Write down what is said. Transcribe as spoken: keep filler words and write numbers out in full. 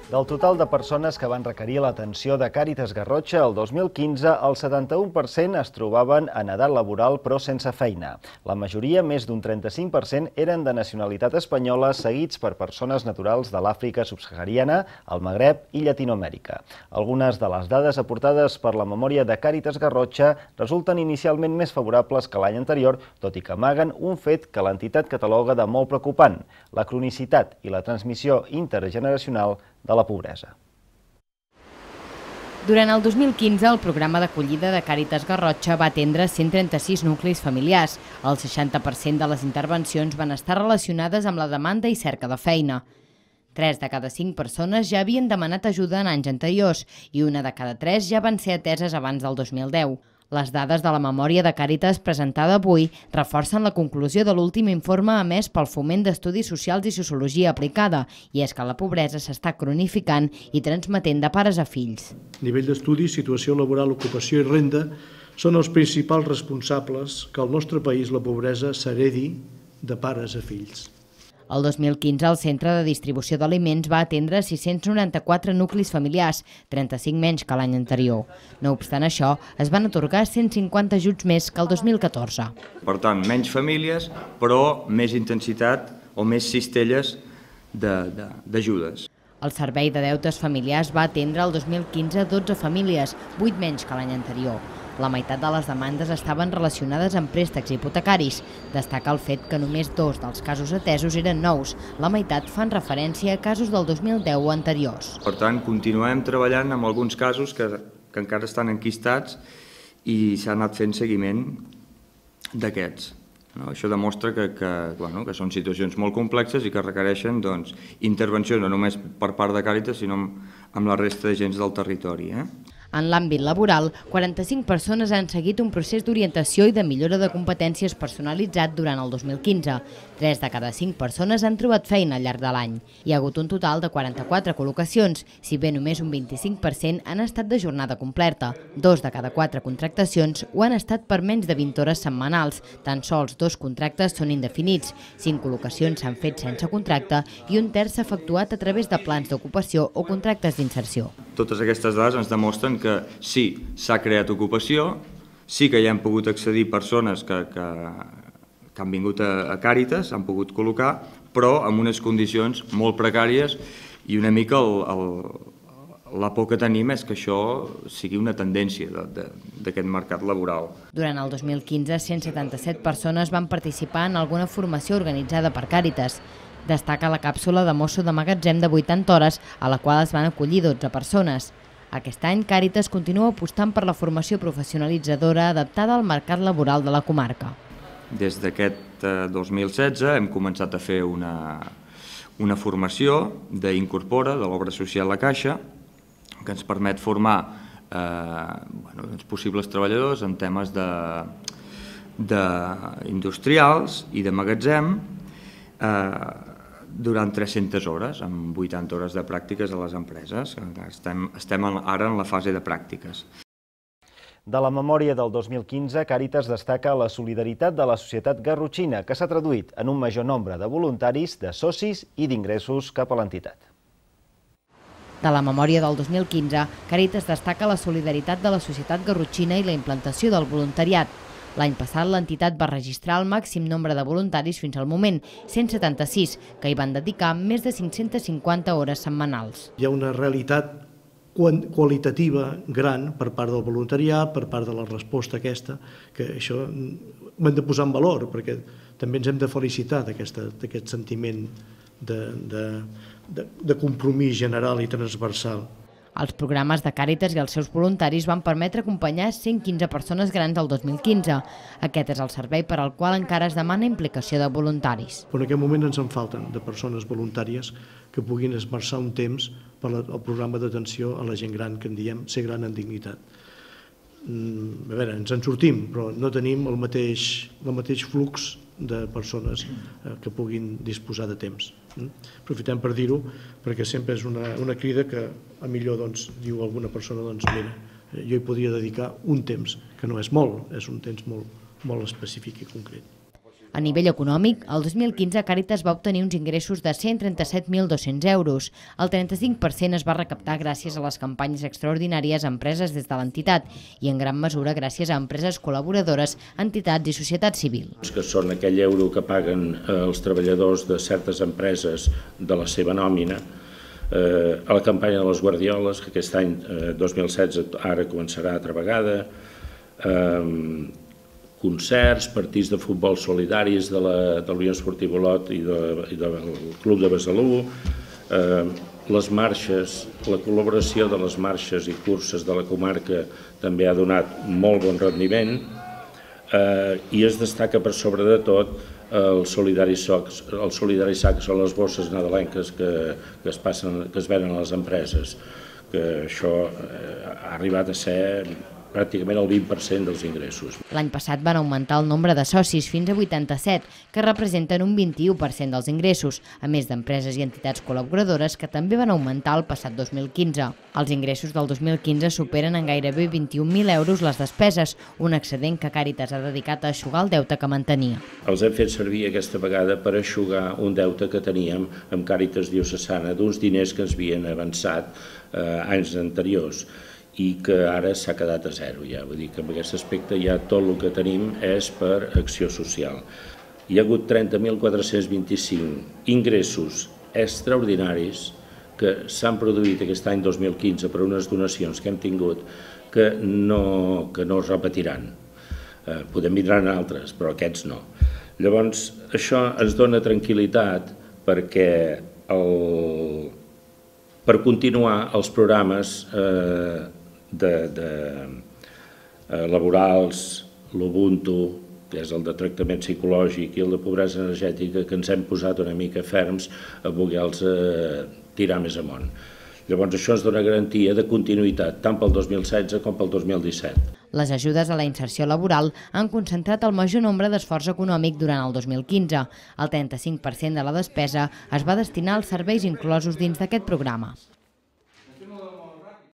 Del total de persones que van requerir l'atenció de Càritas Garrotxa el dos mil quinze, el setanta-u per cent es trobaven en edat laboral però sense feina. La majoria, més d'un trenta-cinc per cent, eren de nacionalitat espanyola, seguits per persones naturals de l'Àfrica subsahariana, el Magreb i Llatinoamèrica. Algunes de les dades aportades per la memòria de Càritas Garrotxa resulten inicialment més favorables que l'any anterior, tot i que amaguen un fet que l'entitat cataloga de molt preocupant: la cronicitat i la transmissió intergeneracional de la pobresa. Durant el dos mil quinze, el programa d'acollida de Càritas Garrotxa va atendre cent trenta-sis nuclis familiars. El seixanta per cent de les intervencions van estar relacionades amb la demanda i cerca de feina. Tres de cada cinc persones ja havien demanat ajuda en anys anteriors i una de cada tres ja van ser ateses abans del dos mil deu. Les dades de la memòria de Càritas presentada avui reforcen la conclusió de l'últim informe emès pel Foment d'Estudis Socials i Sociologia Aplicada, i és que la pobresa s'està cronificant i transmetent de pares a fills. Nivell d'estudi, situació laboral, ocupació i renda són els principals responsables que al nostre país la pobresa s'heredi de pares a fills. El dos mil quinze, el Centre de Distribució d'Aliments va atendre sis-cents noranta-quatre nuclis familiars, trenta-cinc menys que l'any anterior. No obstant això, es van atorgar cent cinquanta ajuts més que el dos mil catorze. Per tant, menys famílies, però més intensitat o més cistelles d'ajudes. El Servei de Deutes Familiars va atendre el dos mil quinze dotze famílies, vuit menys que l'any anterior. La meitat de les demandes estaven relacionades amb préstecs hipotecaris. Destaca el fet que només dos dels casos atesos eren nous. La meitat fan referència a casos del dos mil deu o anteriors. Per tant, continuem treballant amb alguns casos que, que encara estan enquistats i s'ha anat fent seguiment d'aquests. No? Això demostra que, que, bueno, que són situacions molt complexes i que requereixen doncs, intervenció no només per part de Càritas, sinó amb, amb la resta de gens del territori. Eh? En l'àmbit laboral, quaranta-cinc persones han seguit un procés d'orientació i de millora de competències personalitzat durant el dos mil quinze. Tres de cada cinc persones han trobat feina al llarg de l'any. Hi ha hagut un total de quaranta-quatre col·locacions, si bé només un vint-i-cinc per cent han estat de jornada completa. Dos de cada quatre contractacions ho han estat per menys de vint hores setmanals. Tan sols dos contractes són indefinits, cinc col·locacions s'han fet sense contracte i un terç s'ha efectuat a través de plans d'ocupació o contractes d'inserció. Totes aquestes dades ens demostren que sí, s'ha creat ocupació, sí que hi han pogut accedir persones que, que, que han vingut a, a Càritas, han pogut col·locar, però amb unes condicions molt precàries i una mica el, el, la por que tenim és que això sigui una tendència d'aquest mercat laboral. Durant el dos mil quinze, cent setanta-set persones van participar en alguna formació organitzada per Càritas. Destaca la càpsula de mosso de magatzem de vuitanta hores, a la qual es van acollir dotze persones. Aquest any, Càritas continua apostant per la formació professionalitzadora adaptada al mercat laboral de la comarca. Des d'aquest dos mil setze hem començat a fer una, una formació d'Incorpora, de l'obra social La Caixa, que ens permet formar eh, bueno, els possibles treballadors en temes de, de industrials i de magatzem, eh, durant tres-centes hores, amb vuitanta hores de pràctiques a les empreses. Estem, estem ara en la fase de pràctiques. De la memòria del dos mil quinze, Càritas destaca la solidaritat de la societat garrotxina, que s'ha traduït en un major nombre de voluntaris, de socis i d'ingressos cap a l'entitat. De la memòria del dos mil quinze, Càritas destaca la solidaritat de la societat garrotxina i la implantació del voluntariat. L'any passat l'entitat va registrar el màxim nombre de voluntaris fins al moment, cent setanta-sis, que hi van dedicar més de cinc-centes cinquanta hores setmanals. Hi ha una realitat qualitativa gran per part del voluntariat, per part de la resposta aquesta, que això ho hem de posar en valor, perquè també ens hem de felicitar d'aquest sentiment de, de, de, de compromís general i transversal. Els programes de Càritas i els seus voluntaris van permetre acompanyar cent quinze persones grans el dos mil quinze. Aquest és el servei per al qual encara es demana implicació de voluntaris. En aquest moment ens en falten de persones voluntàries que puguin esmerçar un temps per al programa d'atenció a la gent gran, que en diem ser gran en dignitat. A veure, ens en sortim, però no tenim el mateix, el mateix flux de persones que puguin disposar de temps. Aprofitem per dir-ho, perquè sempre és una, una crida que a millor doncs, diu alguna persona, doncs mira, jo hi podria dedicar un temps, que no és molt, és un temps molt, molt específic i concret. A nivell econòmic, el dos mil quinze Càritas va obtenir uns ingressos de cent trenta-set mil dos-cents euros. El trenta-cinc per cent es va recaptar gràcies a les campanyes extraordinàries a empreses des de l'entitat i en gran mesura gràcies a empreses col·laboradores, entitats i societat civil. Que són aquell euro que paguen els treballadors de certes empreses de la seva nòmina, eh, a la campanya de les Guardioles, que aquest any, eh, dos mil setze, ara començarà altra vegada, eh, concerts, partits de futbol solidaris de la, de la Unió Esportiva Olot i, de, i del Club de Besalú, eh, les marxes, la col·laboració de les marxes i curses de la comarca també ha donat molt bon rendiment, eh, i es destaca per sobre de tot el solidari sac, el solidari sac són les bosses nadalenques que, que, es passen, que es venen a les empreses, que això eh, ha arribat a ser pràcticament el vint per cent dels ingressos. L'any passat van augmentar el nombre de socis fins a vuitanta-set, que representen un vint-i-u per cent dels ingressos, a més d'empreses i entitats col·laboradores que també van augmentar el passat dos mil quinze. Els ingressos del dos mil quinze superen en gairebé vint-i-un mil euros les despeses, un excedent que Càritas ha dedicat a eixugar el deute que mantenia. Els hem fet servir aquesta vegada per eixugar un deute que teníem amb Càritas Diocesana d'uns diners que ens havien avançat eh, anys anteriors, i que ara s'ha quedat a zero ja. Vull dir que en aquest aspecte ja tot el que tenim és per acció social. Hi ha hagut trenta mil quatre-cents vint-i-cinc ingressos extraordinaris que s'han produït aquest any dos mil quinze per unes donacions que hem tingut que no, que no es repetiran. Eh, podem vindran altres, però aquests no. Llavors, això ens dona tranquil·litat perquè el, per continuar els programes eh, de, de eh, laborals, l'Ubuntu, que és el de tractament psicològic, i el de pobresa energètica, que ens hem posat una mica ferms a voler-los eh, tirar més amunt. Llavors això ens dona garantia de continuïtat tant pel dos mil setze com pel dos mil disset. Les ajudes a la inserció laboral han concentrat el major nombre d'esforç econòmic durant el dos mil quinze. El trenta-cinc per cent de la despesa es va destinar als serveis inclosos dins d'aquest programa.